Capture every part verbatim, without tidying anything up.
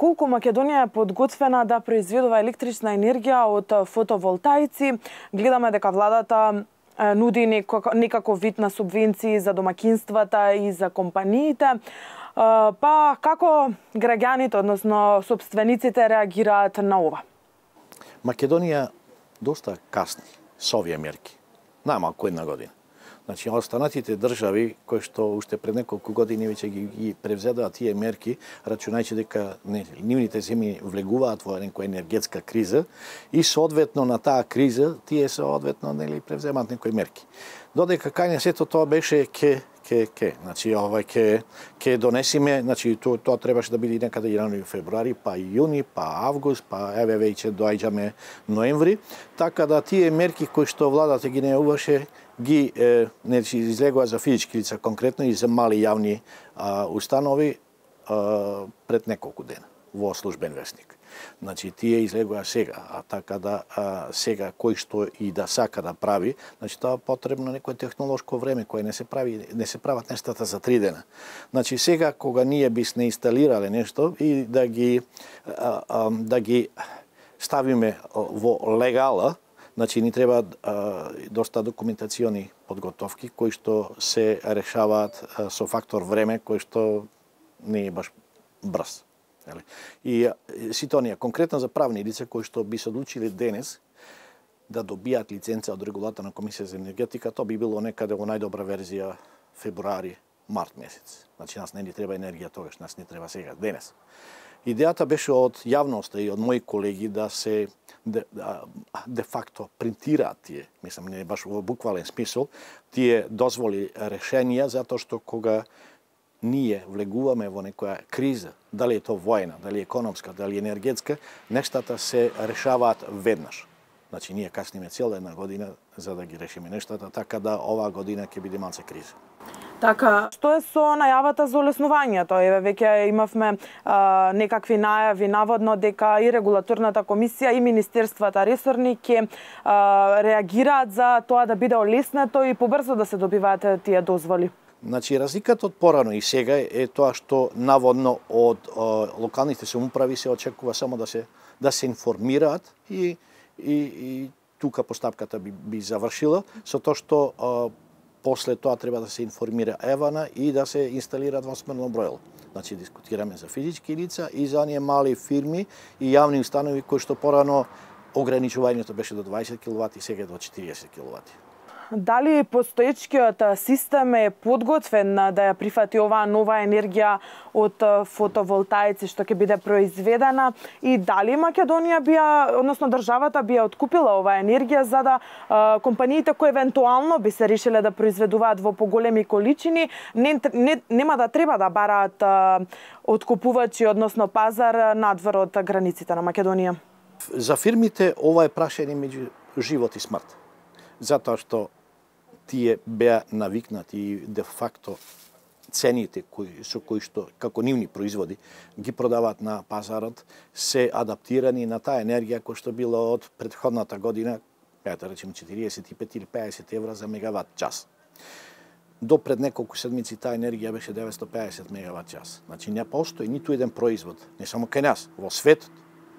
колку Македонија е подготвена да произведува електрична енергија од фотоволтаици. Гледаме дека владата нуди некако вид на субвенции за домакинствата и за компаниите. Па како граѓаните, односно собствениците, реагираат на ова? Македонија доста касни со овие мерки. Најмалку една година. Значи, останатите држави кои што уште пред неколку години веќе ги, ги превзедаа тие мерки, рачунајќи дека не, нивните земји влегуваат во некоја енергетска криза и соодветно на таа криза тие соодветно нели превземаат некои мерки. Додека кај сето тоа беше ке ке ке, значи овај ке ке донесиме, значи тоа тоа требаше да биде некаде јануари, февруари, па јуни, па август, па еве веќе доаѓаме ноември, така да тие мерки кои што владата ги најавуваше ги е, значи излегува за физички лица конкретно и за мали јавни а, установи а, пред неколку дена во службен весник. Значи тие излегува сега, а така да а, сега кој што и да сака да прави, значи тоа потребно некое технолошко време кое не се прави, не се прават нештата за три дена. Значи сега кога ние бисне инсталирале нешто и да ги а, а, да ги ставиме во легала, значи ни треба а, доста документациони подготовки кои што се решаваат а, со фактор време кој што не е баш брз. И сите оние конкретно за правни лица кои што би се одлучили денес да добијат лиценца од регулаторна комисија за енергетика, тоа би било некаде во најдобра верзија февруари, март месец. Значи нас не ни треба енергија тогаш, нас не треба сега, денес. Идејата беше од јавноста и од мои колеги да се де, де факто принтираат тие, мислам не баш во буквален смисол, тие дозволи решенија затоа што кога ние влегуваме во некоја криза, дали е то војна, дали е економска, дали е енергетска, нештата се решаваат веднаш. Значи ние касниме цела една година за да ги решиме нештата, така да оваа година ќе биде малце криза. Така, што е со најавата за олеснувањето? Еве веќе имавме а, некакви најави наводно дека и регулаторната комисија и министерствата ресорни ќе реагираат за тоа да биде олеснето и побрзо да се добиваат тие дозволи. Значи, разликата од порано и сега е тоа што наводно од о, локалните самоуправи се очекува само да се да се информираат и и, и тука постапката би, би завршила со тоа што о, после тоа треба да се информира Евана и да се инсталираат двосмерно бројило. Значи дискутираме за физички лица и за оние мали фирми и јавни установи кои што порано ограничувањето беше до дваесет киловати, сега е до четириесет киловати. Дали постоечкиот систем е подготвен да ја прифати оваа нова енергија од фотоволтаици што ќе биде произведена и дали Македонија би ја, односно државата би ја откупила оваа енергија за да а, компаниите кои евентуално би се решиле да произведуваат во поголеми количини не, не, нема да треба да бараат а, откупувачи, односно пазар надвор од границите на Македонија? За фирмите ова е прашање меѓу живот и смрт. Затоа што тие беа навикнати и де факто цените кои со кои што како нивни производи ги продаваат на пазарот се адаптирани на таа енергија која што била од претходната година, да речеме четириесет и пет или пеесет евра за мегават час. До пред неколку седмици таа енергија беше деветстотини и пеесет мегават час. Значи не постои ниту еден производ, не само кај нас, во светот,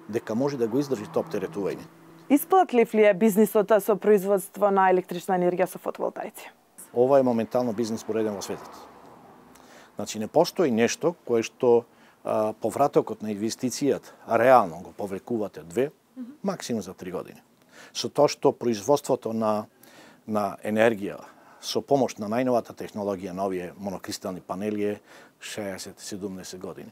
дека може да го издржи тоа оптеретување. Исплатлив ли е бизнисот со производство на електрична енергија со фотоволтаици? Ова е моментално бизнис пореден во светот. Значи не постои нешто кое што а, повратокот на инвестицијата реално го повлекувате две, mm -hmm. максимум за три години. Со тоа што производството на на енергија со помош на најновата технологија на овие монокристални панели е шеесет до седумдесет години.